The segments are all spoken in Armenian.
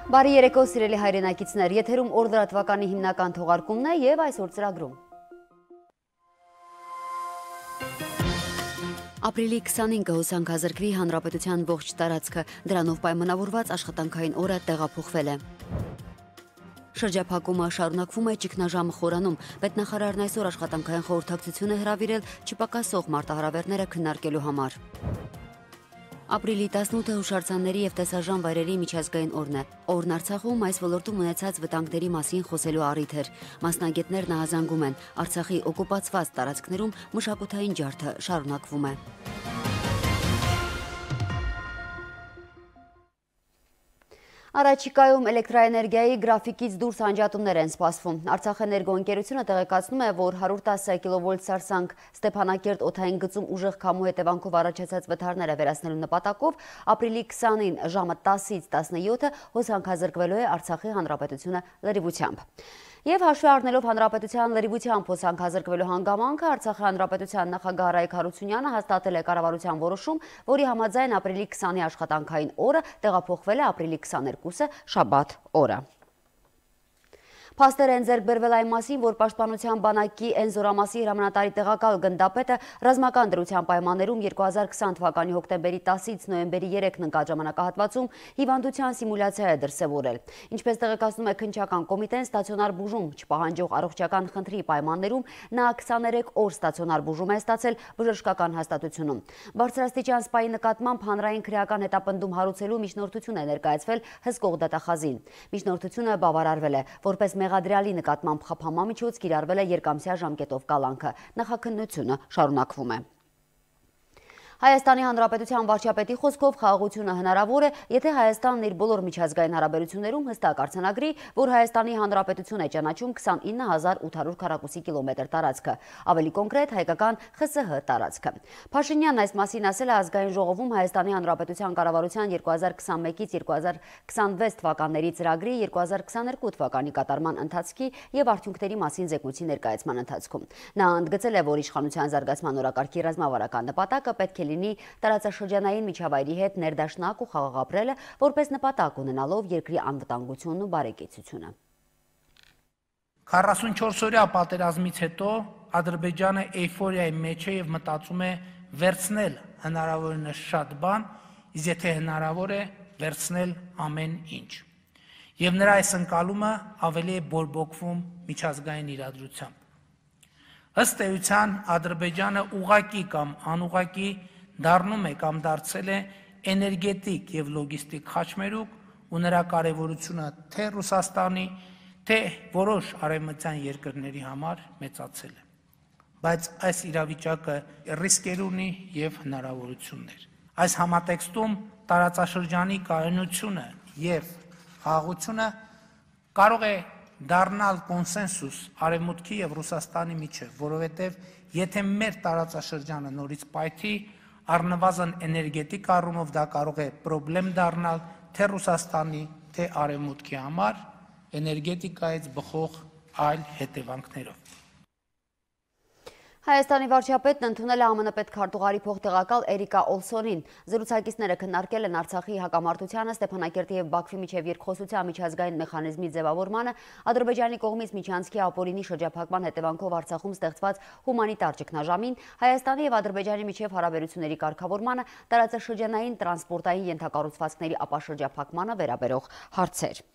Բարի երեկո սիրելի հայրենակիցներ, եթերում օր լրատվականի հիմնական թողարկումն է եւ այսօր ծրագրում։ Ապրիլի 25-ը հոսանքազրկվի հանրապետության ողջ տարածքը, դրանով պայմանավորված աշխատանքային օրը տեղափոխվել է։ Շրջափակումը շարունակվում է ճգնաժամը խորանում, պետնախարարն այսօր աշխատանքային խորհրդակցություն է հրավիրել չպակասող մարտահրավերները քննարկելու համար։ Ապրիլի 18-ը հուշարձանների եւ տեսարժան վայրերի միջազգային օրն է։ Օրն Արցախում այս ոլորտում ունեցած վտանգների մասին խոսելու առիթ էր։ Մասնագետներն ահազանգում են, Արցախի օկուպացված տարածքներում մշակութային ջարդը շարունակվում է։ Առաջիկայում էլեկտրաէներգիայի գրաֆիկից դուրս անջատումներ են սպասվում։ Արցախէներգո ընկերությունը տեղեկացնում է, որ 110 կՎ սարսանք Ստեփանակերտ օդային գծում ուժեղ քամու հետևանքով առաջացած վթարները վերացնելու նպատակով ապրիլի 20-ին ժամը 10-ից 17-ը հոսանքազրկվելու է Արցախի հանրապետությունը լրիվությամբ։ Եվ հաշվի առնելով հանրապետության լրիվությամբ հոսանքազրկվելու հանգամանքը, Արցախի հանրապետության նախագահ Արայք Հարությունյանը հաստատել է կառավարության որոշում, որի համաձայն ապրիլի 20-ի աշխատանքային օրը տեղափոխվել է ապրիլի 22-ը շաբաթ օրը։ Փաստեր են ձեռք բերվել այն մասին, որ Պաշտպանության բանակի Էն զորամասի հրամանատարի տեղակալ գնդապետը ռազմական դրության պայմաններում 2020 թվականի հոկտեմբերի 10-ից նոյեմբերի 3-ն ընկած ժամանակահատվածում հիվանդության սիմուլյացիա է դրսևորել։ Ինչպես տեղեկացնում է քննչական կոմիտեն, ստացիոնար բուժում չպահանջող առողջական խնդրի պայմաններում նա 23 օր ստացիոնար բուժում է ստացել բժշկական հաստատությունում։ Բարձրաստիճան սպայի նկատմամբ հանրային քրեական հետապնդում հարուցելու միջնորդություն է ներկայացվել հսկող դատախազին։ Միջնորդությունը բավարարվել է, որպես մեղադրյալի նկատմամբ խափամամիջոց կիրառվել է երկամսյա ժամկետով կալանքը։ Նախաքննությունը շարունակվում է։ Հայաստանի Հանրապետության վարչապետի խոսքով խաղաղությունը հնարավոր է, եթե Հայաստանն իր բոլոր միջազգային հարաբերություններում հստակ արձանագրի, որ Հայաստանի Հանրապետություն է ճանաչում 29800 քառակուսի կիլոմետր տարածքը, ավելի կոնկրետ հայկական ԽՍՀ տարածքը։ Փաշինյանն այս մասին ասել է ազգային ժողովում Հայաստանի Հանրապետության կառավարության 2021-ից 2026 թվականների ծրագրի 2022 թվականի կատարման ընթացքի եւ արդյունքների մասին զեկույցի ներկայացման ընթացքում։ Նա ընդգծել է, որ իշխանության զարգացման օրակարգի ռազմավարական նպատակը պետք է լինի տարածաշրջանային միջավայրի հետ ներդաշնակ ու խաղաղ ապրելը, որպես նպատակ ունենալով երկրի անվտանգությունն ու բարեկեցությունը։ 44-օրյա պատերազմից հետո Ադրբեջանը էյֆորիայի մեջ է եւ մտածում է վերցնել հնարավորինս շատ բան, իսկ եթե հնարավոր է վերցնել ամեն ինչ։ Եվ նրա այս ընկալումը ավելի է բորբոքվում միջազգային իրադրությամբ։ Ըստ էության Ադրբեջանը ուղղակի կամ անուղղակի դառնում է կամ դարձել է էներգետիկ եւ լոգիստիկ խաչմերուկ ու նրա կարեւորությունը թե Ռուսաստանի, թե որոշ արևմտյան երկրների համար մեծացել է։ Բայց այս իրավիճակը ռիսկեր ունի եւ հնարավորություններ։ Այս համատեքստում տարածաշրջանի կայունությունը եւ խաղաղությունը կարող է դառնալ կոնսենսուս Արևմուտքի եւ Ռուսաստանի միջեւ, որովհետեւ եթե մեր տարածաշրջանը նորից պայթի, առնվազն էներգետիկ առումով դա կարող է խնդրեմ դառնալ թե Ռուսաստանի, թե Արևմուտքի համար էներգետիկայից բխող այլ հետևանքներով։ Հայաստանի վարչապետն ընդունել է ԱՄՆ պետքարտուղարի փոխտեղակալ Էրիկա Օլսոնին։ Զրուցակիցները քննարկել են Արցախի հակամարտությանը, Ստեփանակերտի եւ Բաքվի միջև երկխոսության միջազգային մեխանիզմի ձևավորմանը, Ադրբեջանի կողմից միջանցքի ապօրինի շրջափակման հետևանքով Արցախում ստեղծված հումանիտար ճգնաժամին, Հայաստանի եւ Ադրբեջանի միջև հարաբերությունների կարգավորմանը, տարածաշրջանային տրանսպորտային ենթակառուցվածքների ապաշրջափակմանը վերաբերող հարցեր։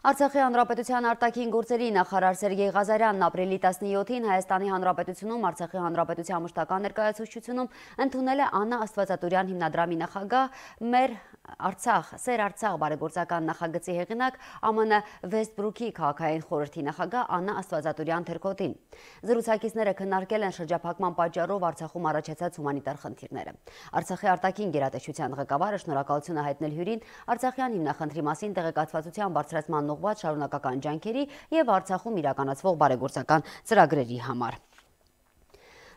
Արցախի հանրապետության արտաքին գործերի նախարար Սերգեյ Ղազարյանն ապրիլի 17-ին Հայաստանի հանրապետությունում Արցախի հանրապետության մշտական ներկայացուցչությունում ընդունել է Աննա Աստվածատուրյան հիմնադրամի նախագահ մեր Սեր Արցախ բարեգործական նախագծի հեղինակ ԱՄՆ Վեսթբրուքի քաղաքային խորհրդի նախագահ Աննա Աստվածատուրյան Թերքոտին։ Զրուցակիցները քննարկել են շրջափակման պատճառով Արցախում առաջացած հումանիտար խնդիրները։ Արցախի արտաքին գերատեսչության ղեկավարը շնորհակալություն է հայտնել հյուրին Արցախյան հիմնախնդրի մասին տեղեկատվության բարձրացման ուղղված շարունակական ջանքերի եւ Արցախում իրականացվող բարեգործական ծրագրերի համար։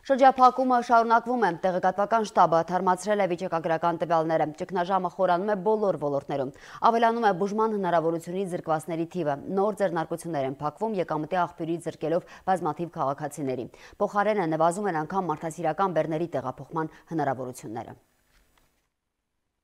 Շրջափակումը շարունակվում է, տեղեկատվական շտաբը թարմացրել է վիճակագրական տվյալները, ճգնաժամը խորանում է բոլոր ոլորտներում, ավելանում է բուժման հնարավորությունից զրկվածների թիվը, նոր ձեռնարկություններ են փակվում եկամտի աղբյուրից զրկելով բազմաթիվ քաղաքացիների, փոխարենը նվազում են անգամ մարդասիրական բեռների տեղափոխման հնարավորությունները։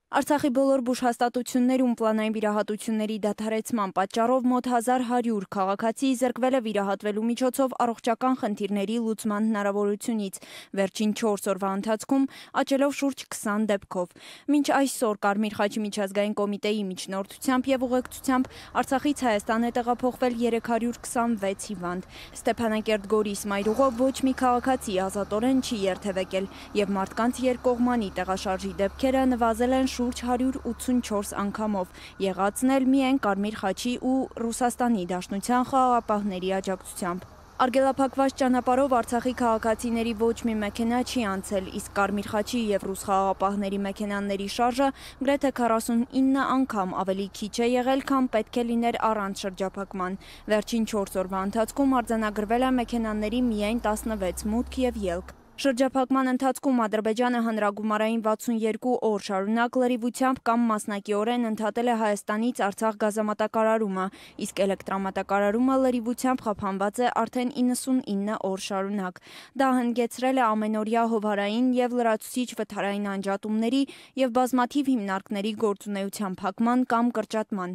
Արցախի բոլոր բուժհաստատություններում պլանային վիրահատությունների դադարեցման պատճառով մոտ 1100 քաղաքացի զրկվել է վիրահատվելու միջոցով առողջական խնդիրների լուծման հնարավորությունից, վերջին 4 օրվա ընթացքում աճելով շուրջ 20 դեպքով։ Մինչ այսօր Կարմիր խաչի միջազգային կոմիտեի միջնորդությամբ եւ ուղեկցությամբ Արցախից Հայաստան է տեղափոխվել 326 հիվանդ։ Ստեփանակերտ Գորիս մայրուղով ոչ մի քաղաքացի ազատորեն չի երթևեկել եւ մարդկանց երկկողմանի տեղաշարժի դեպքերը նվազել են շուրջ 184 անգամով, եղածն էլ միայն Կարմիր խաչի ու Ռուսաստանի Դաշնության խաղաղապահների աջակցությամբ։ Արգելափակված ճանապարհով Արցախի քաղաքացիների ոչ մի մեքենա չի անցել, իսկ Կարմիր խաչի եւ ռուս խաղաղապահների մեքենաների շարժը գրեթե 49 անգամ ավելի քիչ է եղել, քան պետք է լիներ առանց շրջափակման։ Վերջին 4 օրվա ընթացքում արձանագրվել է մեքենաների միայն 16 մուտք եւ ելք։ Շրջափակման ընթացքում Ադրբեջանը հանրագումարային 62 օր շարունակ լրիվությամբ կամ մասնակիորեն ընդհատել է Հայաստանից Արցախ գազամատակարարումը, իսկ էլեկտրամատակարարումը լրիվությամբ խափանված է արդեն 99 օր շարունակ։ Դա հնգեցրել է ամենօրյա հովհարային եւ լրացուցիչ վթարային անջատումների եւ բազմաթիվ հիմնարկների գործունեության փակման կամ կրճատման։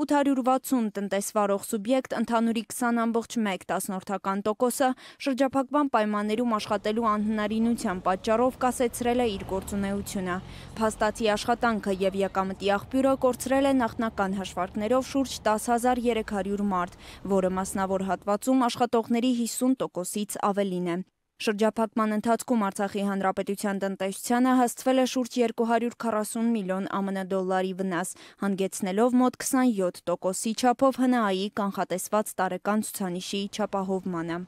860 տնտեսվարող սուբյեկտ ընդհանուրի 20.1%-ը շրջափակման պայմաններում աշխատելու անհնարինության պատճառով կասեցրել է իր գործունեությունը։ Փաստացի աշխատանքը եւ եկամտի աղբյուրը կորցրել է նախնական հաշվարկներով շուրջ 10,300 մարդ, որը մասնավոր հատվածում աշխատողների 50%-ից ավելին է։ Շրջափակման ընթացքում Արցախի հանրապետության տնտեսությանը հասցվել է շուրջ 240 միլիոն ԱՄՆ դոլարի վնաս, հանգեցնելով մոտ 27%-ի չափով ՀՆԱ-ի կանխատեսված տարեկան ցուցանիշի չափահովմանը։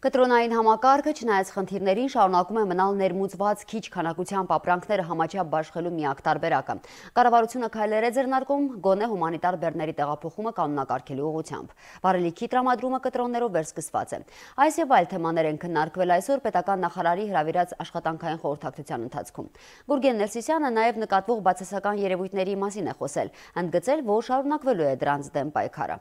Կտրոնային համակարգը, չնայած խնդիրներին, շարունակում է մնալ ներմուծված քիչ քանակությամբ ապրանքները համաչափ բաշխելու միակ տարբերակը։ Կառավարությունը քայլեր է ձեռնարկում գոնե հումանիտար բեռների տեղափոխումը կանոնակարգելու ուղղությամբ։ Վառելիքի տրամադրումը կտրոններով վերսկսված է։ Այս եւ այլ թեմաներ են քննարկվել այսօր պետական նախարարի հրավիրած աշխատանքային խորհրդակցության ընթացքում։ Գուրգեն Ներսիսյանը նաեւ նկատվող բացասական երևույթների մասին է խոսել, ընդգծել, որ շարունակվելու է դրանց դեմ պայքարը։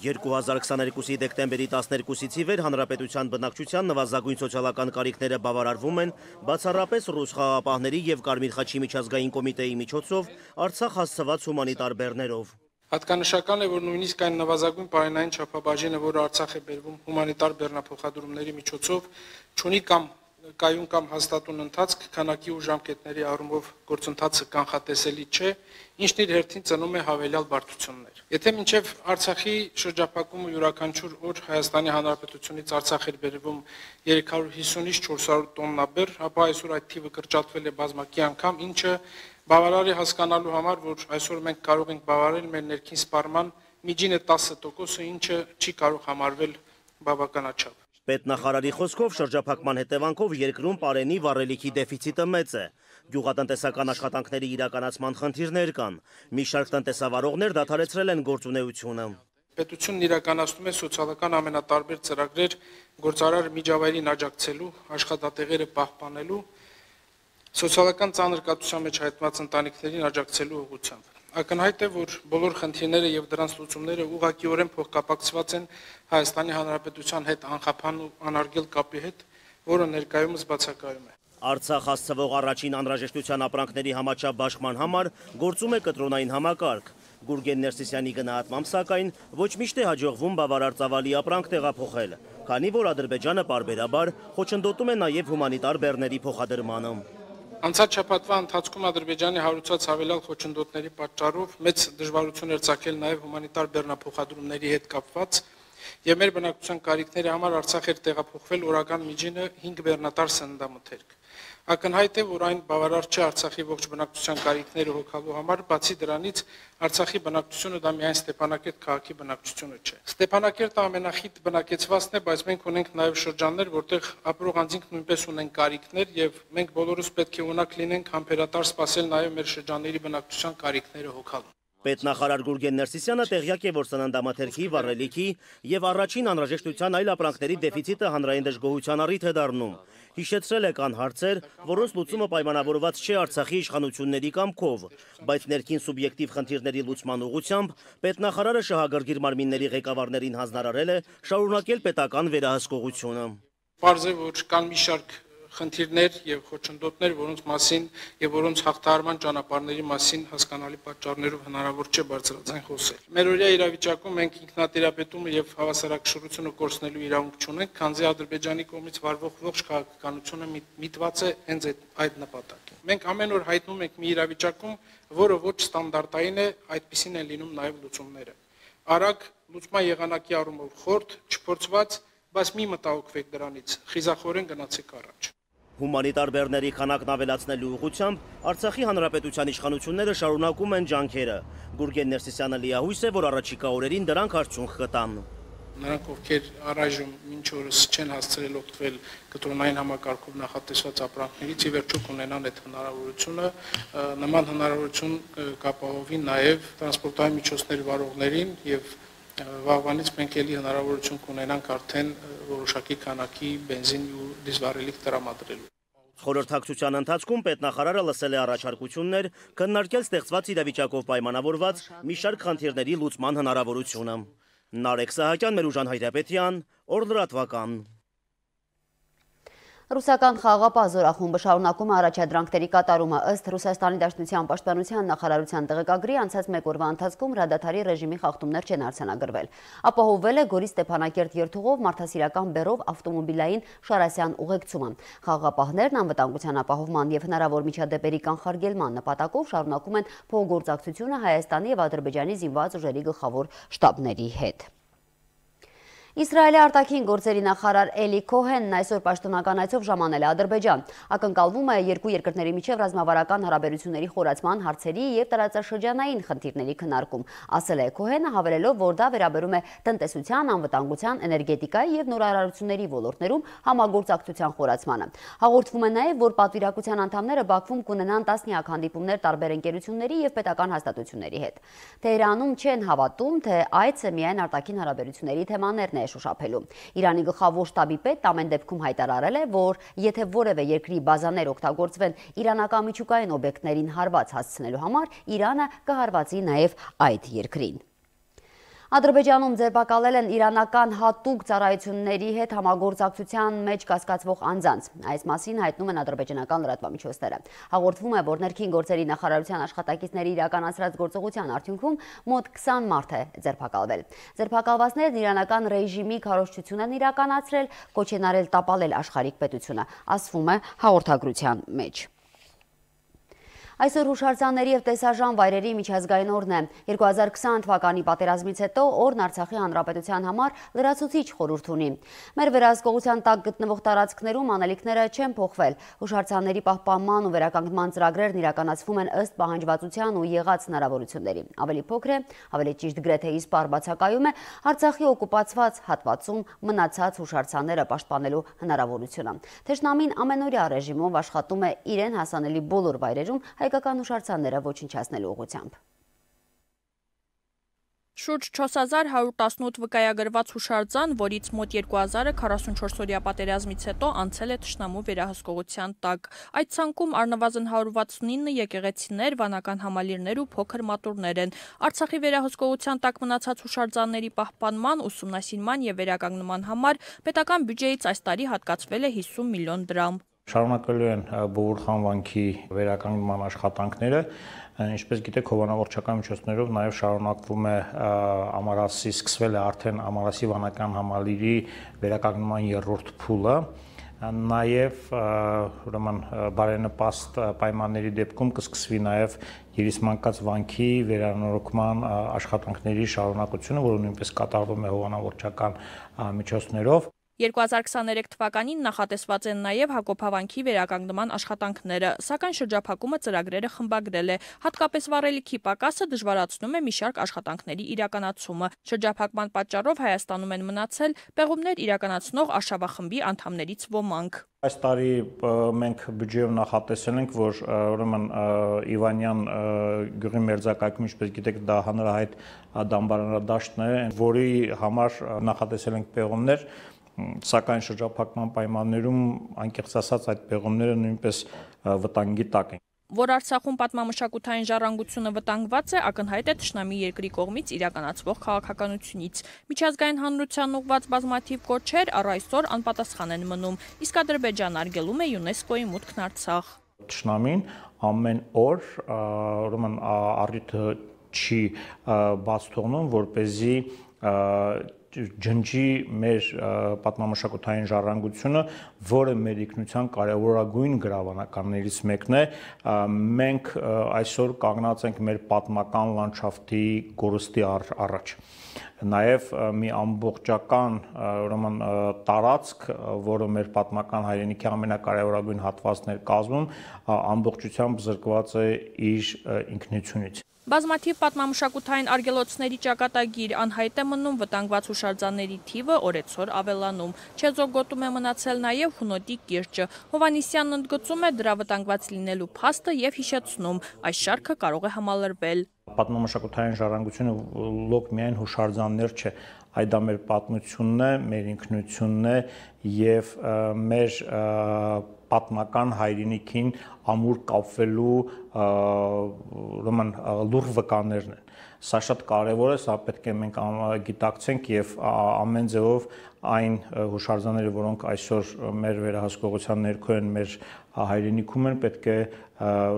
2022-ի դեկտեմբերի 12-ից ի վեր հանրապետության բնակչության նվազագույն սոցիալական կարիքները բավարարվում են բացառապես ռուս խաղաղապահների եւ Կարմիր խաչի միջազգային կոմիտեի միջոցով Արցախ հասցված հումանիտար բեռներով։ Հատկանշական է, որ նույնիսկ այն նվազագույն պարենային չափաբաժինը, որը Արցախ է բերվում հումանիտար բեռնափոխադրումների միջոցով, չունի կամ կայուն կամ հաստատուն ընթացք, քանակի ու ժամկետների առումով գործընթացը կանխատեսելի չէ, ինչն իր հերթին ծնում է հավելյալ բարդություններ։ Եթե մինչև Արցախի շրջափակումը յուրաքանչյուր օր Հայաստանի Հանրապետությունից Արցախ էր բերվում 350-ից 400 տոննա բեռ, ապա այսօր այդ թիվը կրճատվել է բազմակի անգամ, ինչը բավարար է հասկանալու համար, որ այսօր մենք կարող ենք բավարարել մեր ներքին սպառման միջինը 10%, ինչը չի կարող համարվել բավականաչափ։ Պետնախարարի խոսքով շրջափակման հետևանքով երկրում պարենի վառելիքի դեֆիցիտը մեծ է։ Գյուղատնտեսական աշխատանքների իրականացման խնդիրներ կան։ Մի շարք տնտեսավարողներ դադարեցրել են գործունեությունը։ Պետությունն իրականացնում է սոցիալական ամենատարբեր ծրագրեր գործարար միջավայրին աջակցելու, աշխատատեղերը պահպանելու, սոցիալական ծանր կաթության մեջ հայտնված ընտանիքներին աջակցելու ուղղությամբ։ Ակնհայտ է, որ բոլոր խնդիրները եւ դրանց լուծումները ուղղակիորեն փոխկապակցված են Հայաստանի Հանրապետության հետ անխափան ու անարգել կապի հետ, որը ներկայումս բացակայում է։ Արցախ հասցվող առաջին անհրաժեշտության ապրանքների համաչափ բաշխման համար գործում է կտրոնային համակարգ։ Գուրգեն Ներսիսյանի գնահատմամբ սակայն ոչ միշտ է հաջողվում բավարար ծավալի ապրանք տեղափոխել, քանի որ Ադրբեջանը պարբերաբար խոչընդոտում է նաեւ հումանիտար բեռների փոխադրմանը։ Անցած շաբաթվա ընթացքում Ադրբեջանի հարուցած հավելյալ խոչընդոտների պատճառով մեծ դժվարություն էր ծագել նաև հումանիտար բեռնափոխադրումների հետ կապված, եւ մեր բնակչության կարիքների համար Արցախ էր տեղափոխվել օրական միջինը 5 բեռնատար սննդամթերք։ Ակնհայտ է, որ այն բավարար չէ Արցախի ողջ բնակչության կարիքները հոգալու համար, բացի դրանից Արցախի բնակչությունը դա միայն Ստեփանակերտ քաղաքի բնակչությունը չէ։ Ստեփանակերտը ամենախիտ բնակեցվածն է, բայց մենք ունենք նաև շրջաններ, որտեղ ապրող անձինք նույնպես ունեն կարիքներ եւ մենք բոլորս պետք է ունակ լինենք համբերատար սպասել նաև մեր շրջանների բնակչության կարիքները հոգալու։ Պետնախարար Գուրգեն Ներսիսյանը տեղյակ է, որ սննդամթերքի, վառելիքի եւ առաջին անհրաժեշտության այլ ապրանքների դեֆիցիտը հանրային դժգոհության առիթ է դառնում։ Հիշեցրել է կան հարցեր, որոնց լուծումը պայմանավորված չէ Արցախի իշխանությունների կամքով, բայց ներքին սուբյեկտիվ խնդիրների լուծման ուղղությամբ պետնախարարը շահագրգիռ մարմինների ղեկավարներին հանձնարարել է շարունակել պետական վերահսկողությունը։ Պարզ է, որ կան մի շարք խնդիրներ եւ խոչընդոտներ, որոնց մասին եւ որոնց հաղթահարման ճանապարհների մասին հասկանալի պատճառներով հնարավոր չէ բարձրաձայն խոսել։ Մերօրյա իրավիճակում մենք ինքնատիրապետումը եւ հավասարակշռությունը կորցնելու իրավունք չունենք, քանզի Ադրբեջանի կողմից վարվող ողջ քաղաքականությունը միտված է հենց այդ նպատակին։ Մենք ամեն օր հայտնում ենք մի իրավիճակում, որը ոչ ստանդարտային է, այդպիսին են լինում նաեւ լուծումները։ Արագ լուծման եղանակի առումով խորտ, չփորձված, բայց մի մտահոգվեք դրանից, խիզախորեն գնացեք առաջ։ Հումանիտար բեռների քանակն ավելացնելու ուղղությամբ Արցախի հանրապետության իշխանությունները շարունակում են ջանքերը։ Գուրգեն Ներսիսյանը լիահույս է, որ առաջիկա օրերին դրանք արդյունք կտան։ Նրանք, ովքեր առայժմ մինչ օրս չեն հասցրել օգտվել կտրոնային համակարգով նախատեսված ապրանքներից, ի վերջո կունենան այդ հնարավորությունը, նման հնարավորություն կապահովի նաև տրանսպորտային միջոցների վարողներին եւ վաղվանից մենք ելի հնարավորություն կունենանք արդեն որոշակի քանակի բենզին ու դիզվառելիք տրամադրելու։ Խորհրդակցության ընթացքում պետնախարարը լսել է առաջարկություններ, քննարկել ստեղծված իրավիճակով պայմանավորված մի շարք խնդիրների լուծման հնարավորությունը։ Նարեկ Սահակյան, Մերուժան Հայրապետյան, Օր լրատվական։ Ռուսական խաղաղապահ զորախումբը շարունակում է առաջադրանքների կատարումը ըստ Ռուսաստանի Դաշնության պաշտպանության նախարարության տեղեկագրի անցած մեկ օրվա ընթացքում հրադադարի ռեժիմի խախտումներ չեն արձանագրվել։ Ապահովվել է Գորիս Ստեփանակերտ երթուղով մարդասիրական բեռով ավտոմոբիլային Շարասյան ուղեկցումը։ Խաղաղապահներն անվտանգության ապահովման եւ հնարավոր միջադեպերի կանխարգելման նպատակով շարունակում են փոխգործակցությունը Հայաստանի եւ Ադրբեջանի զինված ուժերի գլխավոր շտաբների հետ։ Իսրայելի արտաքին գործերի նախարար Էլի Քոհենն այսօր պաշտոնական այցով ժամանել է Ադրբեջան։ Ակնկալվում է երկու երկրների միջև ռազմավարական հարաբերությունների խորացման հարցերի եւ տարածաշրջանային խնդիրների քննարկում, ասել է Քոհենը, հավելելով, որ դա վերաբերում է տնտեսության, անվտանգության, էներգետիկայի եւ նորարարությունների ոլորտներում համագործակցության խորացմանը։ Հաղորդվում է նաեւ, որ պատվիրակության անդամները Բաքվում կունենան տասնյակ հանդիպումներ տարբեր ընկերությունների եւ պետական հաստատությունների հետ։ Թեհրանում չեն հավատում, թե այցը միայն արտաքին հարաբերությունների թեմաներն շոշափելու։ Իրանի գլխավոր շտաբի պետ ամեն դեպքում հայտարարել է, որ եթե որևէ երկրի բազաներ օգտագործվեն իրանական միջուկային օբյեկտներին հարված հասցնելու համար, Իրանը կհարվածի նաև այդ երկրին։ Ադրբեջանում ձերբակալել են իրանական հատուկ ծառայությունների հետ համագործակցության մեջ կասկածվող անձանց։ Այս մասին հայտնում են ադրբեջանական լրատվամիջոցները։ Հաղորդվում է, որ ներքին գործերի նախարարության աշխատակիցների իրականացրած գործողության արդյունքում մոտ 20 մարդ է ձերբակալվել։ Ձերբակալվածներն իրանական ռեժիմի քարոզչություն են իրականացրել, կոչ են արել տապալել աշխարհիկ պետությունը, ասվում է հաղորդագրության մեջ։ Այսօր հուշարձանների եւ տեսարժան վայրերի միջազգային օրն է։ 2020 թվականի պատերազմից հետո օրն Արցախի հանրապետության համար լրացուցիչ խորհուրդ ունի։ Մեր վերահսկողության տակ գտնվող տարածքներում անելիքները չեն փոխվել։ Հուշարձանների պահպանման ու վերականգնման ծրագրերն իրականացվում են ըստ պահանջվածության ու եղած հնարավորությունների։ Ավելի փոքր է, ավելի ճիշտ գրեթե իսպառ բացակայում է Արցախի օկուպացված հատվածում մնացած հուշարձանները պաշտպանելու հնարավորությունը։ Թշնամին ամենօրյա ռեժիմով աշխատում է իրեն հասանելի բոլոր վայրերում հայկական հուշարձանները ոչնչացնելու ուղղությամբ։ Շուրջ 4118 վկայագրված հուշարձան, որից մոտ 2000-ը 44-օրյա պատերազմից հետո անցել է թշնամու վերահսկողության տակ։ Այդ ցանկում առնվազն 169 եկեղեցիներ, վանական համալիրներ ու փոքր մատուրներ են։ Արցախի վերահսկողության տակ մնացած հուշարձանների պահպանման, ուսումնասիրման եւ վերականգնման համար պետական բյուջեից այս տարի հատկացվել է 50 միլիոն դրամ։ Շարունակելու են Բովուր խանվանքի վերականգնման աշխատանքները, ինչպես գիտեք, հովանավորչական միջոցներով նաև շարունակվում է Ամարասի, սկսվել է արդեն Ամարասի վանական համալիրի վերականգնման երրորդ փուլը, նաև ուրեմն բարենպաստ պայմանների դեպքում կսկսվի նաև Երիսմանկաց վանքի վերանորոգման աշխատանքների շարունակությունը, որը նույնպես կատարվում է հովանավորչական միջոցներով։ 2023 թվականին նախատեսված են նաև Հակոբավանքի վերականգնման աշխատանքները, սակայն շրջափակումը ծրագրերը խմբագրել է։ Հատկապես վառելիքի պակասը դժվարացնում է մի շարք աշխատանքների իրականացումը։ Շրջափակման պատճառով Հայաստանում են մնացել պեղումներ իրականացնող արշավախմբի անդամներից ոմանք։ Այս տարի մենք բյուջեով նախատեսել ենք, որ ուրեմն Իվանյան գյուղի մերձակայքում, ինչպես գիտեք, դա հանրահայտ դամբարանադաշտն է, որի համար նախատեսել ենք պեղումներ, սակայն շրջափակման պայմաններում անկեղծ ասած այդ պեղումները նույնպես վտանգի տակ են։ Որ Արցախում պատմամշակութային ժառանգությունը վտանգված է, ակնհայտ է թշնամի երկրի կողմից իրականացվող քաղաքականությունից։ Միջազգային հանրության ուղղված բազմաթիվ կոչեր առ այսօր անպատասխան են մնում, իսկ Ադրբեջանը արգելում է ՅՈՒՆԵՍԿՕ-ի մուտքն Արցախ։ Թշնամին ամեն օր ուրեմն առիթը չի բաց թողնում, որպեսզի ջնջի մեր պատմամշակութային ժառանգությունը, որը մեր ինքնության կարևորագույն գրավանականներից մեկն է։ Մենք այսօր կանգնած ենք մեր պատմական լանդշաֆտի կորստի առաջ։ Նաև մի ամբողջական ուրեմն տարածք, որը մեր պատմական հայրենիքի ամենակարևորագույն հատվածն էր կազմում, ամբողջությամբ զրկված է իր ինքնությունից։ Բազմաթիվ պատմամշակութային արգելոցների ճակատագիր անհայտ է մնում, վտանգված հուշարձանների թիվը օրեցօր ավելանում։ Չեզոք գոտում է մնացել նաև Հունոտի կիրճը։ Հովհաննիսյանն ընդգծում է դրա վտանգված լինելու փաստը եւ հիշեցնում, այս շարքը կարող է համալրվել։ Պատմամշակութային ժառանգությունը լոկ միայն հուշարձաններ չէ, այլ դա մեր պատմությունն է, մեր ինքնությունն է եւ մեր պատմական հայրենիքին ամուր կապվելու ուրեմն լուռ վկաներն են։ Սա շատ կարևոր է, սա պետք է մենք գիտակցենք եւ ամեն ձևով այն հուշարձանները, որոնք այսօր մեր վերահսկողության ներքո են, մեր հայրենիքում են, պետք է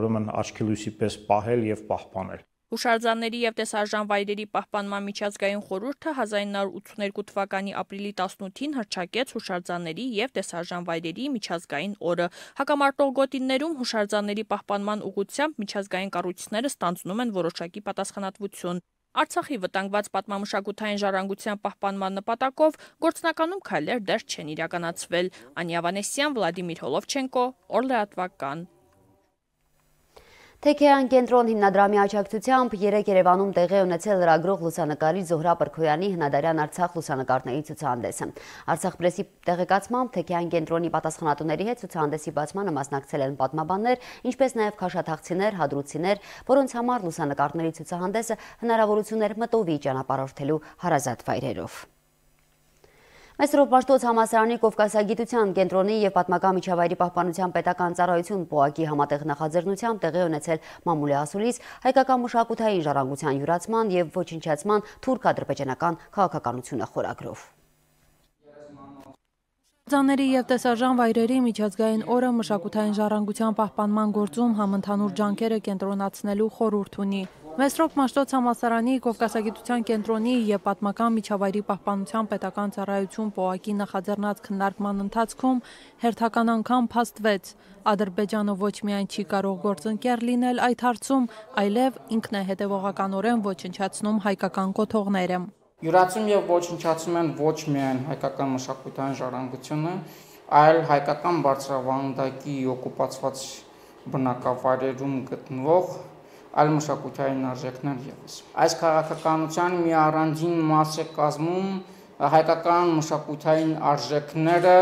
ուրեմն աչքի լույսի պես պահել եւ պահպանել։ Հուշարձանների եւ տեսարժան վայրերի պահպանման միջազգային խորհուրդը 1982 թվականի ապրիլի 18-ին հռչակեց հուշարձանների եւ տեսարժան վայրերի միջազգային օրը։ Հակամարտող գոտիներում հուշարձանների պահպանման ուղղությամբ միջազգային կառույցները ստանձնում են որոշակի պատասխանատվություն։ Արցախի վտանգված պատմամշակութային ժառանգության պահպանման նպատակով գործնականում քայլեր դեռ չեն իրականացվել։ Անիա Վանեսյան, Վլադիմիր Հոլովչենկո, Օրլեատվական։ Թեքեյան կենտրոն հիմնադրամի աջակցությամբ երեկ Երևանում տեղի ունեցել լրագրող լուսանկարիչ Զոհրաբ Պրքոյանի հնադարյան Արցախ լուսանկարների ցուցահանդեսը։ Արցախ պրեսի տեղեկացմամբ Թեքեյան կենտրոնի պատասխանատուների հետ ցուցահանդեսի բացմանը մասնակցել են պատմաբաններ, ինչպես նաև քաշաթաղցիներ, հադրուցիներ, որոնց համար լուսանկարների ցուցահանդեսը հնարավորություն էր մտովի ճանապարհորդելու հարազատ վայրերով։ Մեսրոպ Մաշտոց համալսարանի Կովկասագիտության կենտրոնի եւ պատմական միջավայրի պահպանության պետական ծառայություն ՊՕԱԿ-ի համատեղ նախաձեռնությամբ տեղի ունեցել մամուլի ասուլիս հայկական մշակութային ժառանգության յուրացման եւ ոչնչացման թուրք-ադրբեջանական քաղաքականությունը խորագրով։ Ձանների եւ տեսարժան վայրերի միջազգային օրը մշակութային ժառանգության պահպանման գործում համընդհանուր ջանքերը կենտրոնացնելու խորհուրդ ունի։ Մեսրոպ Մաշտոց համալսարանի Կովկասագիտության կենտրոնի եւ պատմական միջավայրի պահպանության պետական ծառայություն ՊՕԱԿ-ի նախաձեռնած քննարկման ընթացքում հերթական անգամ փաստվեց, Ադրբեջանը ոչ միայն չի կարող գործընկեր լինել այդ հարցում, այլև ինքն է հետևողականորեն ոչնչացնում հայկական կոթողները։ Յուրացում եւ ոչնչացում են ոչ միայն հայկական մշակութային ժառանգությունը, այլ հայկական բարձրավանդակի օկուպացված բնակավայրերում գտնվող այլ մշակութային արժեքներ ևս։ Այս քաղաքականության մի առանձին մաս է կազմում հայկական մշակութային արժեքները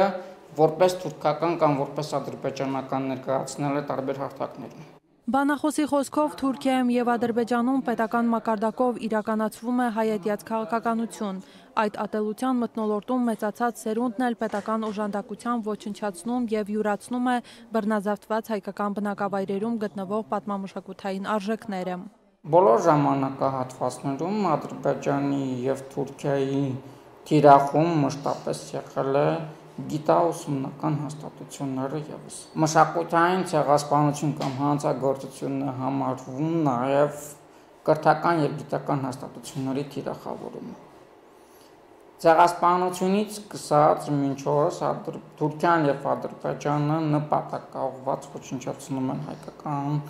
որպես թուրքական կամ որպես ադրբեջանական ներկայացնելը տարբեր հարթակներում։ Բանախոսի խոսքով Թուրքիայում եւ Ադրբեջանում պետական մակարդակով իրականացվում է հայատյաց քաղաքականություն։ Այդ ատելության մթնոլորտում մեծացած սերունդն էլ պետական օժանդակությամբ ոչնչացնում եւ յուրացնում է բռնազավթված հայկական բնակավայրերում գտնվող պատմամշակութային արժեքները։ Բոլոր ժամանակահատվածներում Ադրբեջանի եւ Թուրքիայի թիրախում մշտապես եղել է գիտաուսումնական հաստատությունները ևս։ Մշակութային ցեղասպանություն կամ հանցագործություն է համարվում նաև կրթական եւ գիտական հաստատությունների թիրախավորումը։ Ցեղասպանությունից սկսած մինչ օրս Թուրքիան եւ Ադրբեջանը նպատակաուղղված ոչնչացնում են հայկական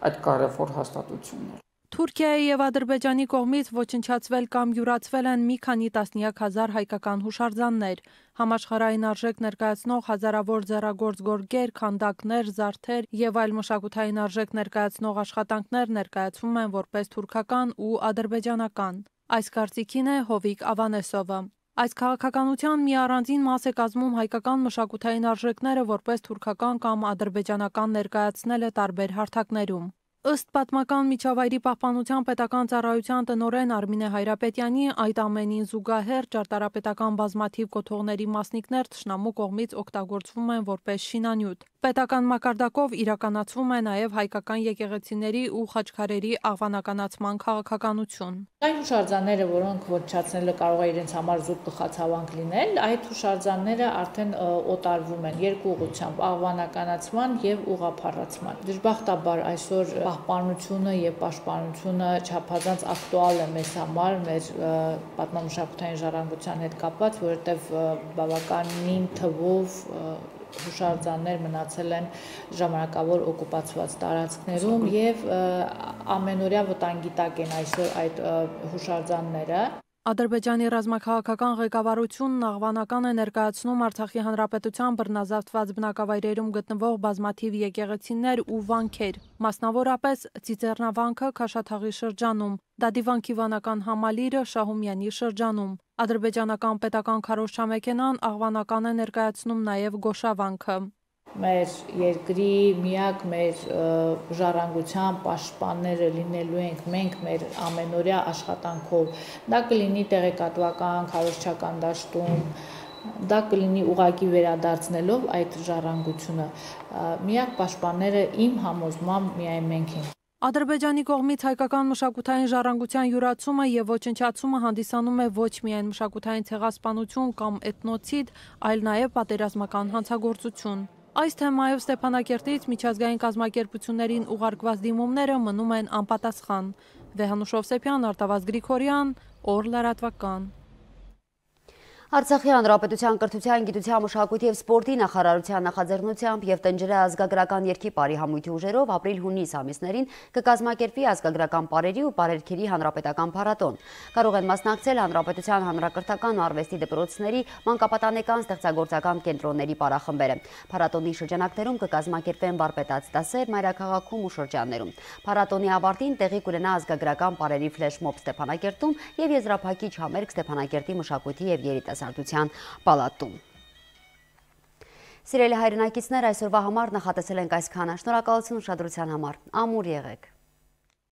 այդ կարևոր հաստատությունները։ Թուրքիայի եւ Ադրբեջանի կողմից ոչնչացվել կամ յուրացվել են մի քանի տասնյակ հազար հայկական հուշարձաններ, համաշխարհային արժեք ներկայացնող հազարավոր ձեռագործ գորգեր, քանդակներ, զարդեր եւ այլ մշակութային արժեք ներկայացնող աշխատանքներ ներկայացվում են որպես թուրքական ու ադրբեջանական։ Այս կարծիքին է Հովիկ Ավանեսովը։ Այս քաղաքականության մի առանձին մաս է կազմում հայկական մշակութային արժեքները որպես թուրքական կամ ադրբեջանական ներկայացնելը տարբեր հարթակներում։ Ըստ պատմական միջավայրի պահպանության պետական ծառայության տնօրեն Արմինե Հայրապետյանի, այդ ամենին զուգահեռ ճարտարապետական բազմաթիվ կոթողների մասնիկներ թշնամու կողմից օգտագործվում են որպես շինանյութ։ Պետական մակարդակով իրականացվում է նաև հայկական եկեղեցիների ու խաչքարերի աղվանականացման քաղաքականություն։ Այն հուշարձանները, որոնք ոչնչացնելը կարող է իրենց համար զուտ գլխացավանք լինել, այդ հուշարձանները արդեն օտարվում են երկու ուղղությամբ՝ աղվանականացման եւ ուղղափառացման։ Դժբախտաբար այսօր պահպանությունը եւ պաշտպանությունը չափազանց ակտուալ է մեզ համար, մեր պատմամշակութային ժառանգության հետ կապված, որովհետեւ բավականին թվով հուշարձաններ մնացել են ժամանակավոր օկուպացված տարածքներում եւ ամենօրյա վտանգի տակ են այսօր այդ հուշարձանները։ Ադրբեջանի ռազմաքաղաքական ղեկավարությունն աղվանական է ներկայացնում Արցախի հանրապետության բռնազավթված բնակավայրերում գտնվող բազմաթիվ եկեղեցիներ ու վանքեր, մասնավորապես Ծիծեռնավանքը Քաշաթաղի շրջանում, Դադիվանքի վանական համալիրը Շահումյանի շրջանում։ Ադրբեջանական պետական քարոզչամեքենան աղվանական է ներկայացնում նաև Գոշավանքը։ Մեր երկրի միակ մեր ժառանգության պաշտպանները լինելու ենք մենք մեր ամենօրյա աշխատանքով։ Դա կլինի տեղեկատվական, քարոզչական դաշտում, դա կլինի ուղղակի վերադարձնելով այդ ժառանգությունը։ Միակ պաշտպանները իմ համոզմամբ միայն մենք ենք։ Ադրբեջանի կողմից հայկական մշակութային ժառանգության յուրացումը եւ ոչնչացումը հանդիսանում է ոչ միայն մշակութային ցեղասպանություն կամ էթնոցիդ, այլ նաեւ պատերազմական հանցագործություն։ Այս թեմայով Ստեփանակերտից միջազգային կազմակերպություններին ուղարկված դիմումները մնում են անպատասխան։ Վեհանուշ Հովսեփյան, Արտավազդ Գրիգորյան, Օր լրատվական։ Արցախի հանրապետության կրթության, գիտության, մշակույթի և սպորտի նախարարության նախաձեռնությամբ եւ Տնջրե ազգագրական երգի պարի համույթի ուժերով ապրիլ-հունիս ամիսներին կկազմակերպվի ազգագրական պարերի ու պարերքերի հանրապետական փառատոն։ Կարող են մասնակցել հանրապետության հանրակրթական ու արվեստի դպրոցների, մանկապատանեկան ստեղծագործական կենտրոնների պարախմբերը։ Փառատոնի շրջանակներում կկազմակերպվեն վարպետաց դասեր մայրաքաղաքում ու շրջաններում։ Փառատոնի ավարտին տեղի կունենա ազգագրական պարերի ֆլեշմոբ Ստեփանակերտում եւ եզրափակիչ համերգ Ստեփանակերտի մշակույթի եւ երիտասարդության պալատում։ Սիրելի հայրենակիցներ, այսօրվա համար նախատեսել ենք այսքանը։ Շնորհակալություն ուշադրության համար։ Ամուր եղեք։